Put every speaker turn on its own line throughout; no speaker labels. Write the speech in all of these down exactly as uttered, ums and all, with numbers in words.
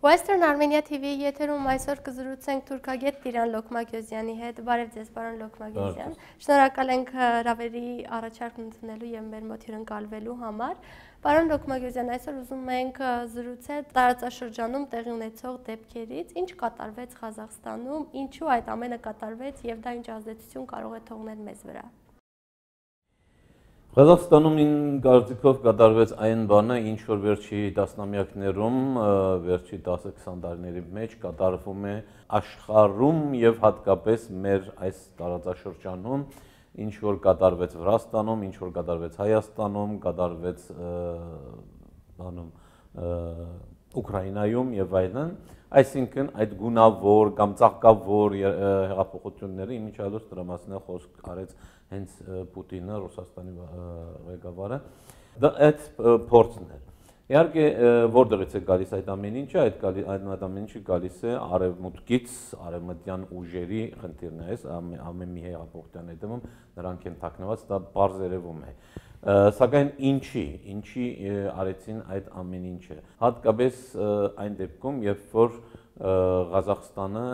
Western Armenia T V եթերում այսօր կզրուցենք թուրքագետ Տիրան Լոկմագյոզյանի հետ։ Բարև ձեզ, պարոն Լոկմագյոզյան։ Շնորհակալ ենք հրավերի առաջարկն ընդունելու եւ մեր մոտ հյուրընկալվելու համար։ Պարոն Լոկմագյոզյան, այսօր ուզում ենք զրուցել տարածաշրջանում տեղի ունեցող դեպքերից, ինչ կատարվեց Ղազախստանում, ինչու այդ ամենը կատարվեց եւ դա ինչ ազդեցություն կարող է թողնել մեզ վրա։
Ղազախստանում ին կարծիքով կատարվեց այն բանը, ինչ որ վերջի տասնամյակներում, վերջի տասը քսան տարիների մեջ կատարվում է աշխարհում եւ հատկապես մեր այս տարածաշրջանում, ինչ որ կատարվեց Վրաստանում, ինչ որ կատարվեց Հայաստանում, կատարվեց բանում Ուկրաինայում եւ այլն, այսինքն այդ գունավոր կամ ծաղկավոր հեղափոխությունները իմիջիալոց դրա մասին է խոսք արեց հենց Պուտինը, Ռուսաստանի ղեկավարը, դա այդ փորձն էր։ Իհարկե, որտեղից է գալիս այդ ամեն ինչը, այդ այդ ամեն ինչը գալիս է արևմուտքից, արևմտյան ուժերի խնդիրն է, ամեն մի հեղափոխության հետևում նրանք են թաքնված, դա պարզ երևում է։ Սակայն ինչի, ինչի արեցին այդ ամեն ինչը։ Հատկապես այն դեպքում, երբ որ Ղազախստանը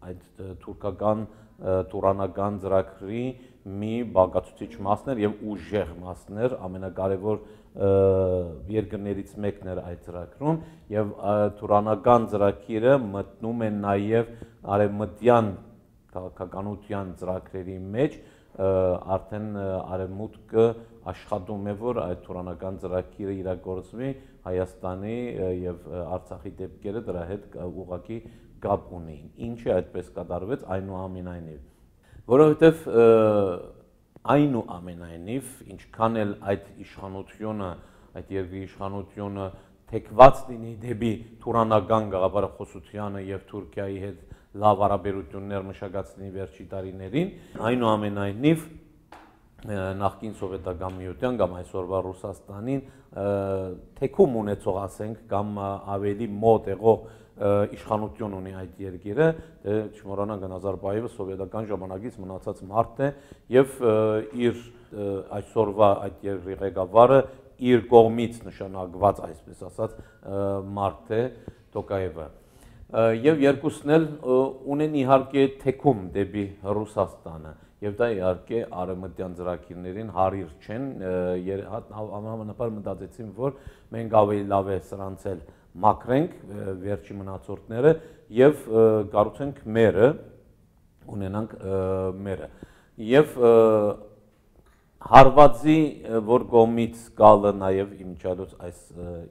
այդ թուրքական տուրանական ծրագրի մի բաղկացուցիչ մասն էր եւ ուժեղ մասն էր, ամենակարևոր երկրներից մեկն էր այդ ծրագրում եւ տուրանական ծրագիրը մտնում է նաեւ արևմտյան քաղաքականության ծրագրերի մեջ, արդեն արևմուտքը աշխատում է, որ այդ տուրանական ծրագիրը իրագործվի, Հայաստանի եւ Արցախի դեպքերը դրա հետ ուղղակի կապ ունեին։ Ինչը այդպես կատարվեց, այնուամենայնիվ, որովհետև այնուամենայնիվ, ինչքան էլ այդ իշխանությունը, այդ երկրի իշխանությունը թեքված լինի դեպի տուրանական գաղափարախոսությանը եւ Թուրքիայի հետ լավ հարաբերություններ մշակեցնի վերջի տարիներին, այնուամենայնիվ նախկին սովետական միության կամ այսօրվա Ռուսաստանին թեքում ունեցող, ասենք, կամ ավելի մոտ եղող իշխանություն ունի այդ երկիրը, չմոռանանք Նազարբայևը սովետական ժամանակից մնացած մարդ է եւ իր այսօրվա այդ երկրի ղեկավարը իր կողմից նշանակված, այսպես ասած, մարդ է Տոկաևը։ Եվ երկուսն էլ ունեն իհարկե թեքում դեպի Ռուսաստանը եւ դա իհարկե արևմտյան ծրագիրներին հարիր չեն, համանապար մտածեցին, որ մենք ավելի լավ է սրանց էլ մաքրենք վերջի մնացորդները եւ կառուցենք մերը, ունենանք մերը։ Եվ հարվածի, որ կողմից գալը նաեւ իմիջիալոց այս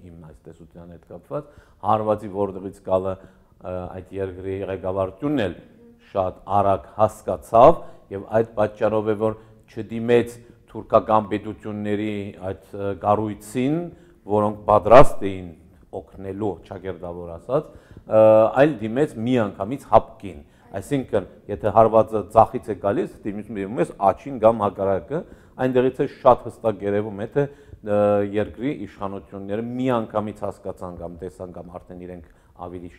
իմ այս տեսության հետ կապված, հարվածի որտեղից գալը այդ երկրի ղեկավարությունն էլ շատ արագ հասկացավ եւ այդ պատճառով է, որ չդիմեց թուրքական պետությունների այդ կառույցին, որոնք պատրաստ էին օգնելու, ճակերտավոր ասած, այլ դիմեց միանգամից հապկին։ Այսինքն, եթե հարվածը ցախից է գալիս, դիմում ես աչին կամ հակառակը, այնտեղից է շատ հստակ երևում է, թե երկրի իշխանությունները միանգամից հասկացան կամ տեսան կամ արդեն իրենք ավելի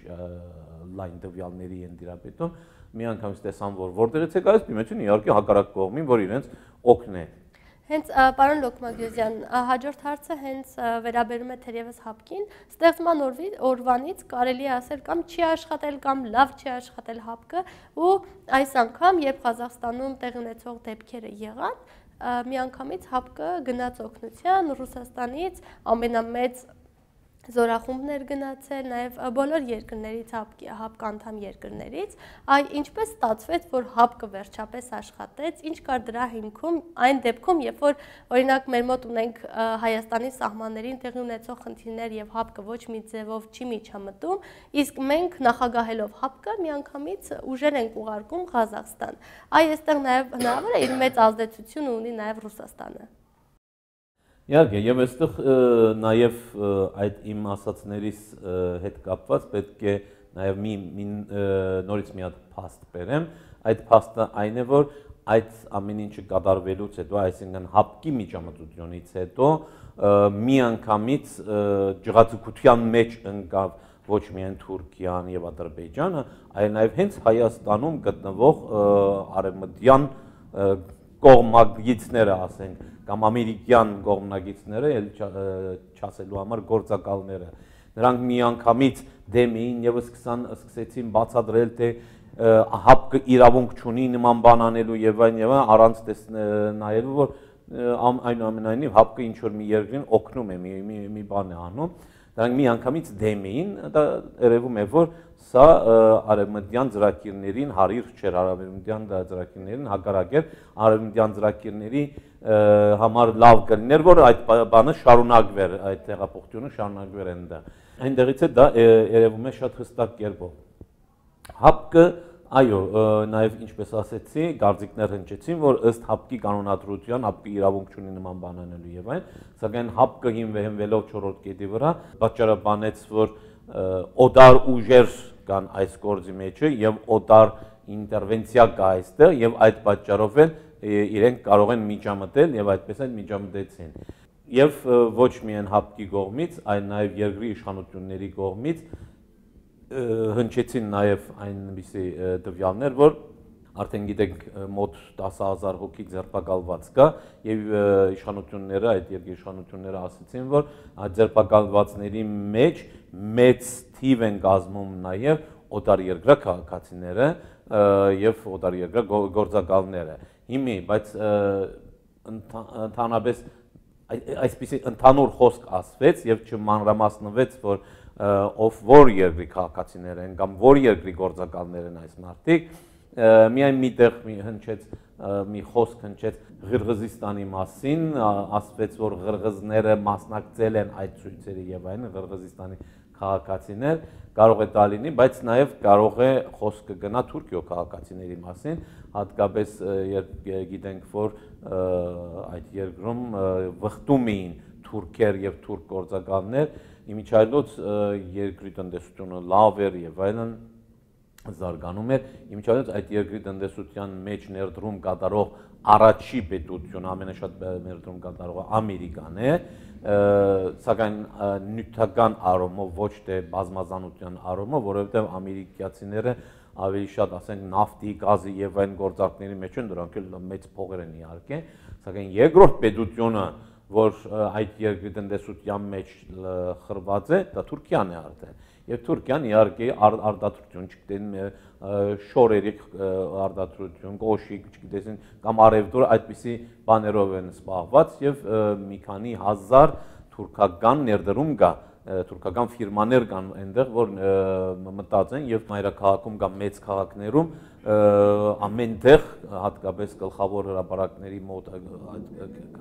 լայն տվյալների են դիրապետում, միանգամից տեսան, որ որտեղից է գալիս, դիմեցին իհարկե հակառակ կողմին, որ իրենց օգնե։
Հենց պարոն Լոկմագյոզյան, հաջորդ հարցը հենց վերաբերում է թերևս հապկին, ստեղծման օրվանից կարելի է ասել կամ չի աշխատել կամ լավ չի աշխատել հապկը ու այս անգամ, երբ Ղազախստանում տեղի ունեցող դեպքերը եղան, միանգամից հապկը գնաց օգնության Ռուսաստանից, ամենամեծ զորախումբներ գնացել, նաև բոլոր երկրներից, հապկը անդամ երկրներից, այ ինչպես ստացվեց, որ հապկը վերջապես աշխատեց, ինչ կար դրա հիմքում, այն դեպքում, երբ որ օրինակ մեր մոտ ունենք Հայաստանի սահմաններին տեղի ունեցող խնդիրներ եւ հապկը ոչ մի ձևով չի միջամտում, իսկ մենք նախագահելով հապկը միանգամից ուժեր ենք ուղարկում Ղազախստան։ Այ այստեղ նաև հնարավոր է իր մեծ ազդեցությունը ունի նաև Ռուսաստանը։
Իհարկե, եւ այստեղ նաեւ այդ իմ ասացներից հետ կապված պետք է նաեւ մի նորից մի հատ փաստ բերեմ, այդ փաստը այն է, որ այդ ամեն ինչը կատարվելուց հետո, այսինքն հապկի միջամտությունից հետո միանգամից ջղացության մեջ ընկավ ոչ միայն Թուրքիան եւ Ադրբեջանը, այլ նաեւ հենց Հայաստանում գտնվող արևմտյան կողմնակիցները, ասենք, կամ ամերիկյան կողմնակիցները, ել չասելու համար գործակալները, Նրանք միանգամից դեմ էին եւ սկսեցին բացատրել, թե հապկը իրավունք չունի նման բան անելու եւ այն եւ այն, առանց նայելու, որ այնուամենայնիվ հապկը ինչ որ մի երկրին օգնում է, մի մի բան է անում։ Դրանք միանգամից դեմ էին, դա երևում է, որ սա արևմտյան ծրագիրներին հարիր չէր, արևմտյան ծրագիրներին հակառակ էր, արևմտյան ծրագիրների համար լավ կլիներ, որ այդ բանը շարունակվեր, այդ տեղափոխությունը շարունակվեր այնտեղ։ Այնտեղից է դա երևում է շատ հստակ կերպով։ Հապկը, այո, նաև ինչպես ասեցի, գարձիկներ հնչեցին, որ ըստ հապկի կանոնադրության հապկը իրավունք չունի նման բան անելու եւ այն, սակայն հապկը հիմնվելով չորրորդ կետի վրա պատճառաբանեց, որ օդար ուժեր կան այս գործի մեջը եւ օդար ինտերվենցիա կա այստեղ եւ այդ պատճառով էլ իրենք կարող են միջամտել եւ այդպես էլ միջամտեցին։ Եվ ոչ միայն հապկի կողմից, այլ նաեւ երկրի իշխանությունների կողմից հնչեցին նաև այնպիսի տվյալներ, որ արդեն գիտենք մոտ տասը հազար հոգի ձերբակալված կա եւ իշխանությունները, այդ երկրի իշխանությունները ասացին, որ այդ ձերբակալվածների մեջ մեծ թիվ են կազմում նաև օտար երկրի քաղաքացիները եւ օտար երկրի գործակալները։ Հիմի, բայց ընդհանրապես այսպիսի ընդհանուր խոսք ասվեց եւ չմանրամասնվեց, որ ով որ երկրի քաղաքացիներ են կամ որ երկրի գործակալներ են այս մարդիկ, միայն մի տեղ հնչեց մի խոսք հնչեց Ղրղզստանի մասին, ասվեց, որ ղրղզները մասնակցել են այդ ցույցերի եւ այն Ղրղզստանի քաղաքացիներ, կարող է դա լինի, բայց նաեւ կարող է խոսքը գնա Թուրքիո քաղաքացիների մասին, հատկապես երբ գիտենք, որ այդ երկրում վխտում էին թուրքեր եւ թուրք գործակալներ, իմիջիայլոց երկրի տնտեսությունը լավ էր եւ այլն զարգանում էր, իմիջիայլոց այդ երկրի տնտեսության մեջ ներդրում կատարող առաջի պետություն, ամենաշատ ներդրում կատարողը Ամերիկան է, սակայն նյութական առումով, ոչ թե բազմազանության առումով, որովհետեւ ամերիկացիները ավելի շատ ասենք նավթի, գազի եւ այն գործարքների մեջ են, դրանք էլ մեծ փողեր են իհարկե, սակայն երկրորդ պետությունը, որ այդ երկրի տնտեսության մեջ խրված է, դա Թուրքիան է արդեն։ Եվ Թուրքիան իհարկե արտադրություն, չգիտեն շորերի արտադրություն, գոշիկ, չգիտեն կամ արևդուր այդպիսի բաներով են զբաղված եւ մի քանի հազար թուրքական ներդրում կա, թուրքական ֆիրմաներ կան այնտեղ, որ մտած են եւ մայրաքաղաքում կամ մեծ քաղաքներում ամենտեղ հատկապես գլխավոր հրապարակների մոտ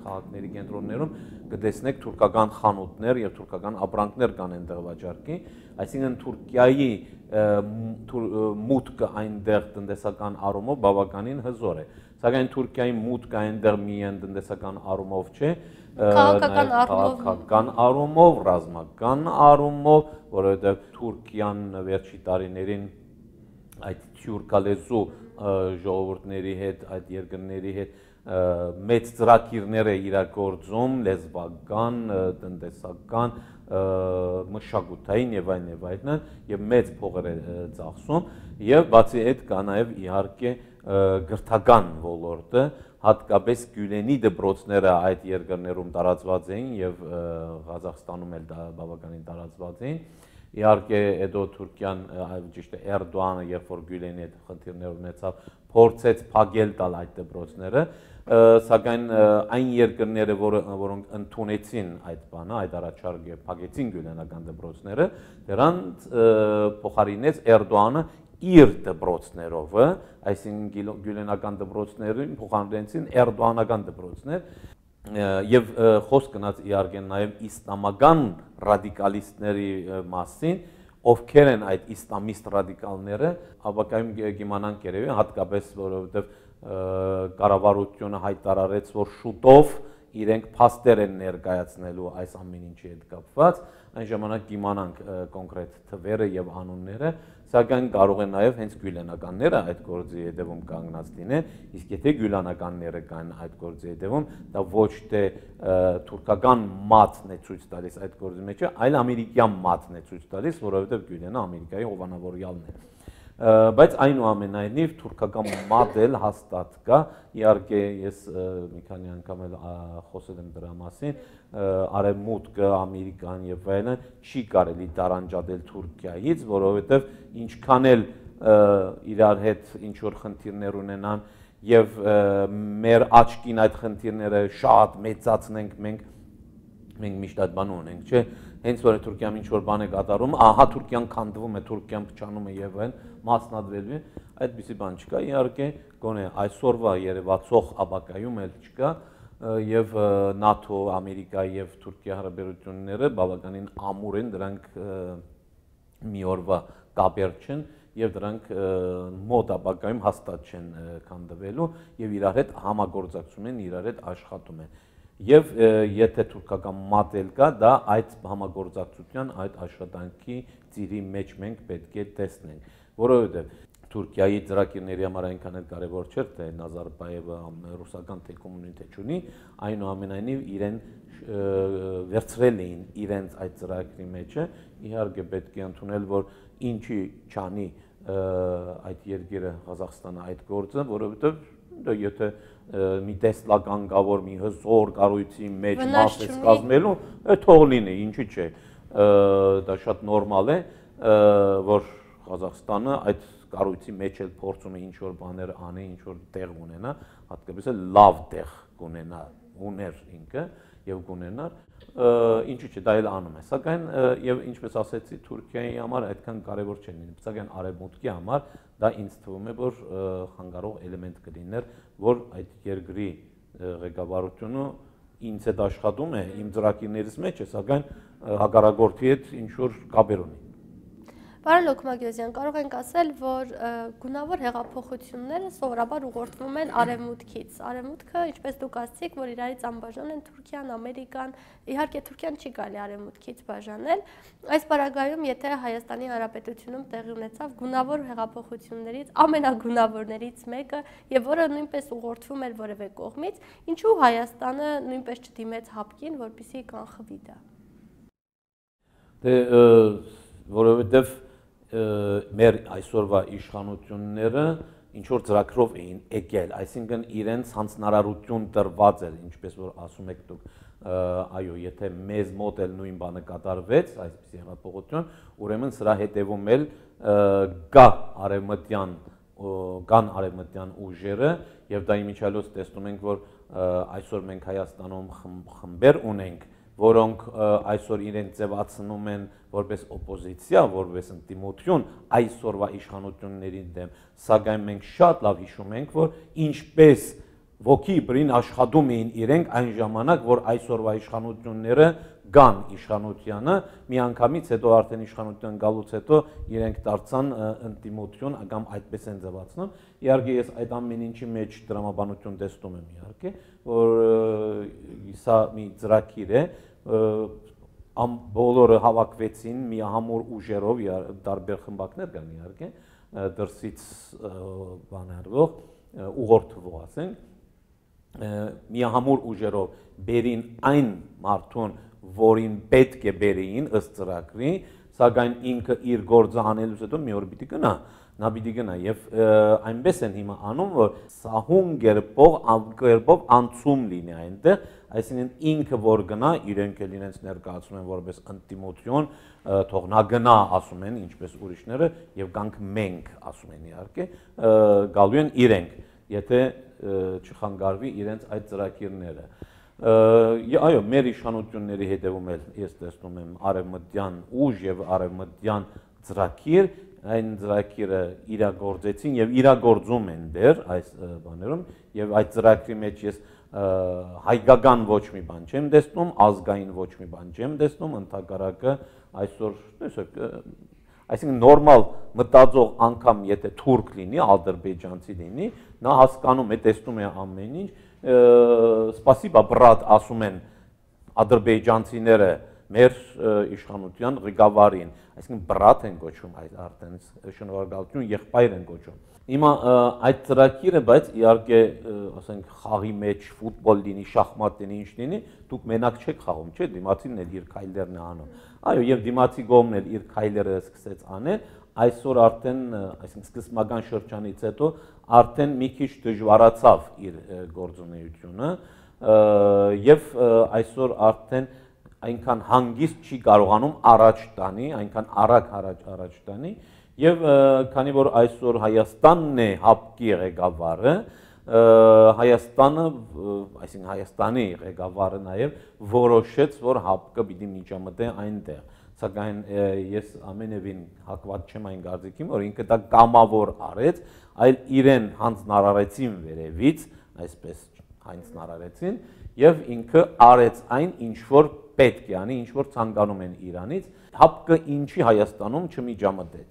քաղաքների կենտրոններում կտեսնեք թուրքական խանութներ եւ թուրքական ապրանքներ կան այնտեղ վաճառքի, այսինքն Թուրքիայի մուտքը այնտեղ տնտեսական առումով բավականին հզոր է, սակայն Թուրքիայի մուտքը այնտեղ միայն տնտեսական առումով չէ,
քաղաքական առումով,
քաղաքական առումով, ռազմական առումով, որովհետեւ Թուրքիան վերջի տարիներին այդ թյուրքալեզու ժողովուրդների հետ, այդ երկրների հետ մեծ ծրագիրներ է իրագործում, լեզվական, տնտեսական, մշակութային եւ այլն եւ այլն, եւ մեծ փողեր է ծախսում, եւ բացի այդ կա նաեւ իհարկե գրթական ոլորտը, հատկապես Գյուլենի դպրոցները այդ երկրներում տարածված էին եւ Ղազախստանում էլ դա բավականին տարածված էին։ Իհարկե հետո Թուրքիան, ճիշտ է, Էրդողանը, երբ որ Գյուլենի հետ խնդիրներ ունեցավ, փորձեց փակել տալ այդ դպրոցները, սակայն այն երկրները, որոնք ընդունեցին այդ բանը, այդ առաջարկը, փակեցին գյուլենական դպրոցները, դրանց փոխարինեց Էրդողանը իր դպրոցներով, այսինքն գյուլենական դպրոցներին փոխարինեցին էրդողանական դպրոցներ եւ խոսք գնաց իհարկե նաեւ իսլամական ռադիկալիստների մասին, ովքեր են այդ իսլամիստ ռադիկալները, ապակայում կիմանանք երևի, հատկապես որովհետեւ կառավարությունը հայտարարեց, որ շուտով իրենք փաստեր են ներկայացնելու այս ամեն ինչի հետ կապված, այն ժամանակ կիմանանք կոնկրետ թվերը եւ անունները, սակայն կարող է նաեւ հենց գյուլենականները այդ գործի հետևում կանգնած լինեն, իսկ եթե գյուլենականները կան այդ գործի հետևում, դա ոչ թե թուրքական մատն է ցույց տալիս այդ գործի մեջ, այլ ամերիկյան մատն է ցույց տալիս, որովհետեւ գյուլենը Ամերիկայի հովանավորյալն է։ Բայց այնուամենայնիվ թուրքական մոդել հաստատ կա, իհարկե ես մի քանի անգամ էլ խոսել եմ դրա մասին, արևմուտքը, Ամերիկան եւ այլն չի կարելի տարանջատել Թուրքիայից, որովհետեւ ինչքան էլ իրար հետ ինչ որ խնդիրներ ունենան եւ մեր աչքին այդ խնդիրները շատ մեծացնենք մենք մենք միշտ այդ բանը ունենք, չէ՞, հենց որ Թուրքիան ինչ որ բան է կատարում, ահա Թուրքիան քանդվում է, Թուրքիան փչանում է եւ այլն, մասնադրելու է, այդպիսի բան չկա, իհարկե, գոնե այսօրվա երևացող ապակայում էլ չկա եւ ՆԱԹՕ, Ամերիկա եւ Թուրքիա հարաբերությունները բավականին ամուր են, դրանք մի օրվա կապեր չեն եւ դրանք մոտ ապակայում հաստատ չեն քանդվելու եւ իրար հետ համագործակցում են, իրար հետ աշխատում են։ Եվ եթե թուրքական մոդել կա, դա այդ համագործակցության, այդ աշխատանքի ծիրի մեջ մենք պետք է տեսնենք, որովհետև Թուրքիայի ծրագիրների համար այնքան էլ կարևոր չէր, թե Նազարբայևը ռուսական թե կոմունիտ թե չունի, այնուամենայնիվ իրեն վերցրել էին իրենց այդ ծրագրի մեջը, իհարկե պետք է ընդունել, որ ինչի չանի այդ երկիրը Ղազախստանը այդ գործը, որովհետև դա եթե մի տեսլական կա, որ մի հզոր կառույցի մեջ մաս է կազմելու, թող լինի, ինչի՞ չէ, դա շատ նորմալ է, որ Ղազախստանը այդ կառույցի մեջ էլ փորձում է ինչ-որ բաներ անի, ինչ-որ տեղ ունենա, հատկապես էլ լավ տեղ կունենա, ուներ ինքը եւ կունենար, ինչի՞ չէ, դա էլ անում է, սակայն եւ ինչպես ասեցի, Թուրքիայի համար այդքան կարեւոր չէ, սակայն արևմուտքի համար դա ինձ թվում է, որ խանգարող էլեմենտ կլիներ, որ այդ երկրի ղեկավարությունը ինձ հետ աշխատում է, իմ ծրագիրներից մեջ է, սակայն հակառակորդի հետ ինչ որ կապեր ունի։
Պարոն Լոքմագյոզյան, կարող ենք ասել, որ գունավոր հեղափոխությունները սովորաբար ուղղորդվում են արևմուտքից։ Արևմուտքը, ինչպես դուք ասացիք, որ իրարից անբաժան են Թուրքիան, Ամերիկան, իհարկե Թուրքիան չի կարելի արևմուտքից բաժանել։ Այս պարագայում, եթե Հայաստանի Հանրապետությունում տեղի ունեցավ գունավոր հեղափոխություններից ամենագունավորներից մեկը, եւ որը նույնպես ուղղորդվում էր որևէ կողմից, ինչու Հայաստանը նույնպես չդիմեց հապկին, որպեսզի կանխվի դա։
Դե որովհետեւ մեր այսօրվա իշխանությունները ինչ որ ծրագրով էին եկել, այսինքն իրենց հանձնարարություն տրված էր, ինչպես որ ասում եք դուք, այո, եթե մեզ մոտ էլ նույն բանը կատարվեց, այսպիսի հեղափոխություն, ուրեմն սրա հետևում էլ կա արևմտյան կան արևմտյան ուժերը եւ դա իմիջիալոց տեսնում ենք, որ այսօր մենք Հայաստանում խմբեր ունենք, որոնք այսօր իրեն ձևացնում են որպես օպոզիցիա, որպես ընդդիմություն այսօրվա իշխանությունների դեմ, սակայն մենք շատ լավ հիշում ենք, որ ինչպես ոգի բրին աշխատում էին իրենք այն ժամանակ, որ այսօրվա իշխանությունները կան իշխանությանը, միանգամից հետո արդեն իշխանության գալուց հետո իրենք դարձան ընդդիմություն, կամ այդպես են ձևացնում։ Իհարկե ես այդ ամեն ինչի մեջ դրամաբանություն տեսնում եմ, իհարկե, որ սա մի ծրագիր է, բոլորը հավաքվեցին միահամուռ ուժերով, տարբեր խմբակներ կան իհարկե, դրսից բանարվող, ուղղորդվող ասենք, միահամուռ ուժերով բերին այն մարդուն, որին պետք է բերեին ըստ ծրագրի, սակայն ինքը իր գործը անելուց հետո մի օր պիտի գնա, նա պիտի գնա եւ այնպես են հիմա անում, որ սահուն կերպով, կերպով անցում լինի այնտեղ, այսինքն ինքը որ գնա, իրենք էլ իրենց ներկայացնում են որպես ընդդիմություն, թող նա գնա, ասում են, ինչպես ուրիշները, եւ կանք մենք, ասում են իհարկե, գալու են իրենք, եթե չխանգարվի իրենց այդ ծրագիրները։ Այո, մեր իշխանությունների հետևում էլ ես տեսնում եմ արևմտյան ուժ եւ արևմտյան ծրագիր, այն ծրագիրը իրագործեցին եւ իրագործում են դեռ այս բաներում եւ այդ ծրագրի մեջ ես հայկական ոչ մի բան չեմ տեսնում, ազգային ոչ մի բան չեմ տեսնում, ընդհակառակը այսօր, տեսեք, այսինքն նորմալ մտածող անգամ եթե թուրք լինի, ադրբեջանցի լինի, նա հասկանում է, տեսնում է ամեն ինչ, սպասիբա բրատ ասում են ադրբեջանցիները մեր իշխանության ղեկավարին, այսինքն բրատ են կոչում այդ արդեն շնորհակալություն եղբայր են կոչում։ Հիմա այդ ծրագիրը, բայց իհարկե, ասենք, խաղի մեջ ֆուտբոլ լինի, շախմատ լինի, ինչ լինի, դուք մենակ չեք խաղում, չէ՞, դիմացին էլ իր քայլերն է անում։ Այո, եւ դիմացի կողմն էլ իր քայլերը սկսեց անել, այսօր արդեն, այսինքն սկզբնական շրջանից հետո արդեն մի քիչ դժվարացավ իր գործունեությունը եւ այսօր արդեն այնքան հանգիստ չի կարողանում առաջ տանի, այնքան արագ առաջ առաջ տանի եւ քանի որ այսօր Հայաստանն է հապկի ղեկավարը, Հայաստանը, այսինքն Հայաստանի ղեկավարը նաեւ որոշեց, որ հապկը պիտի միջամտե այնտեղ, սակայն ես ամենևին հակված չեմ այն կարծիքին, որ ինքը դա կամավոր արեց, այլ իրեն հանձնարարեցին վերևից, այսպես հանձնարարեցին եւ ինքը արեց այն, ինչ որ պետք է անի, ինչ որ ցանկանում են Իրանից, հապկը ինչի Հայաստանում չմիջամտեց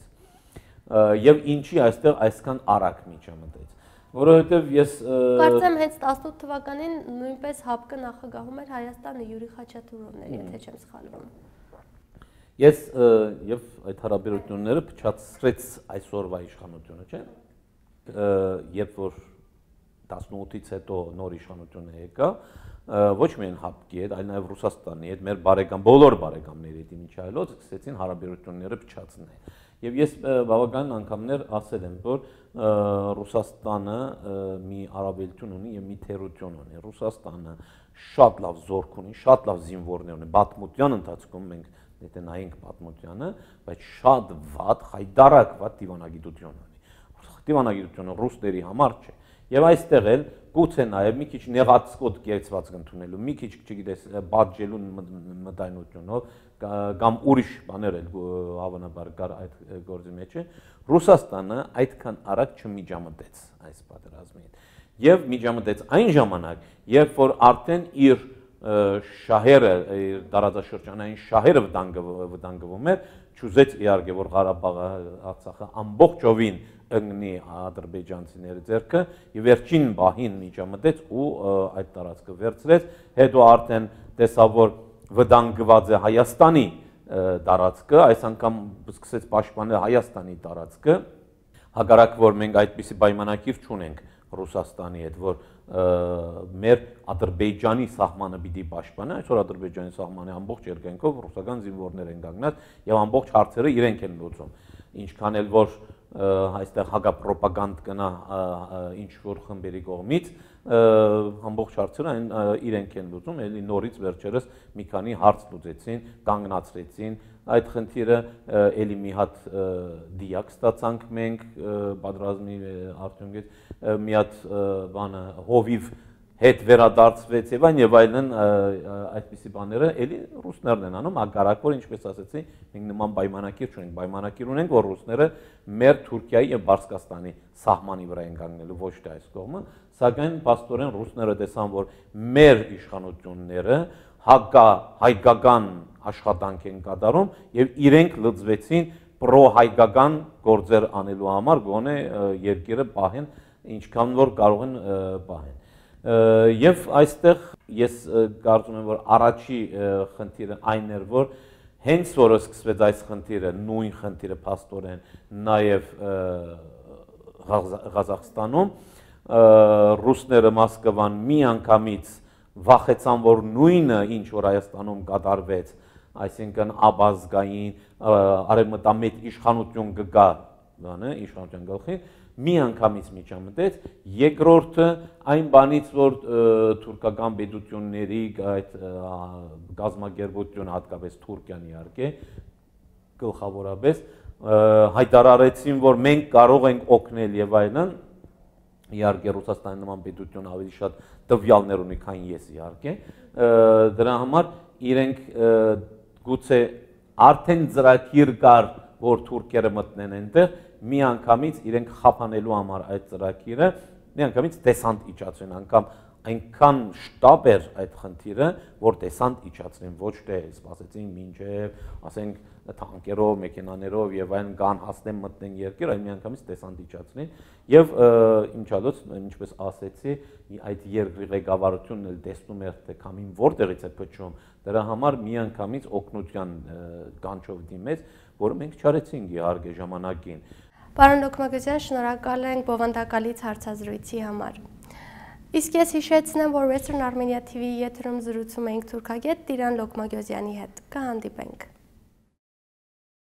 եւ ինչի այստեղ այսքան արագ միջամտեց, որովհետեւ ես
կարծեմ հենց տասնութ թվականին նույնպես հապկը նախագահում էր Հայաստանը Յուրի Խաչատուրովն էր, եթե չեմ սխալվում։
Ես եւ այդ հարաբերությունները փչացրեց այսօրվա իշխանությունը, չէ՞։ Երբ որ տասնութից հետո նոր իշխանությունը եկա, ոչ միայն հապկի հետ, այլ նաեւ Ռուսաստանի հետ, մեր բարեկամ բոլոր բարեկամների հետ իմիջայլոց սկսեցին հարաբերությունները փչացնել։ Եվ ես բավական անգամներ ասել եմ, որ Ռուսաստանը մի առավելություն ունի եւ մի թերություն ունի։ Ռուսաստանը շատ լավ զորք ունի, շատ լավ զինվորներ ունի։ Պատմության ընթացքում մենք եթե նայենք պատմությանը, բայց շատ վատ, խայդարակ վատ դիվանագիտություն ունի։ Դիվանագիտությունը ռուսների համար չէ։ Եվ այստեղ էլ գուցե նաև մի քիչ նեղացկոտ կերծված ընդունելու, մի քիչ, չգիտես, բաժելու մտայնությունով կամ ուրիշ բաներ էլ հավանաբար կար այդ գործի մեջ, Ռուսաստանը այդքան արագ չմիջամտեց այս պատերազմին։ Եվ միջամտեց այն ժամանակ, երբ որ արդեն իր շահերը, իր տարածաշրջանային շահերը վտանգվում էր, չուզեց իհարկե, որ Ղարաբաղը, Արցախը ամբողջովին ընկնի ադրբեջանցիների ձեռքը եւ վերջին բահին միջամտեց ու այդ տարածքը վերցրեց, հետո արդեն տեսավ, որ վտանգված է Հայաստանի տարածքը, այս անգամ սկսեց պաշտպանել Հայաստանի տարածքը, հակառակ որ մենք այդպիսի պայմանագիր չունենք Ռուսաստանի հետ, որ մեր Ադրբեջանի սահմանը պիտի պաշտպանի, այսօր Ադրբեջանի սահմանի ամբողջ երկայնքով ռուսական զինվորներ են կանգնած եւ ամբողջ հարցերը իրենք են լուծում։ Ինչքան էլ որ այստեղ հակապրոպագանդ կնա ինչ որ խմբերի կողմից, ամբողջ հարցերը այն իրենք են լուծում, էլի նորից վերջերս մի քանի հարց լուծեցին, կանգնացրեցին այդ խնդիրը, էլի մի հատ դիակ ստացանք մենք պատրազմի արդյունքից, մի հատ բանը հովիվ հետ վերադարձվեց եւ այն եւ այլն այդպիսի բաները էլի ռուսներն են անում, հակառակ որ ինչպես ասեցի, մենք նման պայմանագիր չունենք, պայմանագիր ունենք, որ ռուսները մեր Թուրքիայի եւ Բարսկաստանի սահմանի վրա են կանգնելու, ոչ թե այս կողմը, սակայն փաստորեն ռուսները տեսան, որ մեր իշխանությունները հակա հայկական աշխատանք են կատարում եւ իրենք լծվեցին պրո-հայկական գործեր անելու համար, գոնե երկիրը պահեն ինչքան որ կարող են պահեն։ Եվ այստեղ ես կարծում եմ, որ առաջի խնդիրը այն էր, որ հենց որ սկսվեց այս խնդիրը, նույն խնդիրը փաստորեն նաև Ղազախստանում, ռուսները Մոսկվան մի անգամից վախեցան, որ նույնը ինչ որ Հայաստանում կատարվեց, այսինքն աբազգային արևմտամետ իշխանություն կգա, բանը իշխանության գլխի, մի անգամից միջամտեց, երկրորդը այն բանից, որ թուրքական պետությունների այդ գազագերբությունը, հատկապես Թուրքիան իհարկե, գլխավորապես հայտարարեցին, որ մենք կարող ենք օգնել եւ այլն, իհարկե Ռուսաստանի նման պետություն ավելի շատ տվյալներ ունի, քան ես իհարկե, դրա համար իրենք գուցե արդեն ծրագիր կար, որ թուրքերը մտնեն այնտեղ, մի անգամից իրենք խափանելու համար այդ ծրագիրը, մի անգամից դեսանտ իջացրին, անգամ այնքան շտապ էր այդ խնդիրը, որ դեսանտ իջացրին, ոչ թե սպասեցին մինչև, ասենք, թանկերով, մեքենաներով եւ այլն կան հասնեն մտնեն երկիր, այլ մի անգամից դեսանտ իջացրին եւ իմչալոց, ինչպես ասեցի, այդ երկրի ղեկավարությունն էլ տեսնում էր, թե քամին որտեղից է փչում, դրա համար մի անգամից օգնության կանչով դիմեց, որը մենք չարեցինք իհարկե ժամանակին։
Պարոն Լոկմագոզյան, շնորհակալ ենք բովանդակալից հարցազրույցի համար։ Իսկ ես հիշեցնեմ, որ Western Armenia T V եթերում զրուցում էինք թուրքագետ Տիրան Լոկմագոզյանի հետ։ Կհանդիպենք։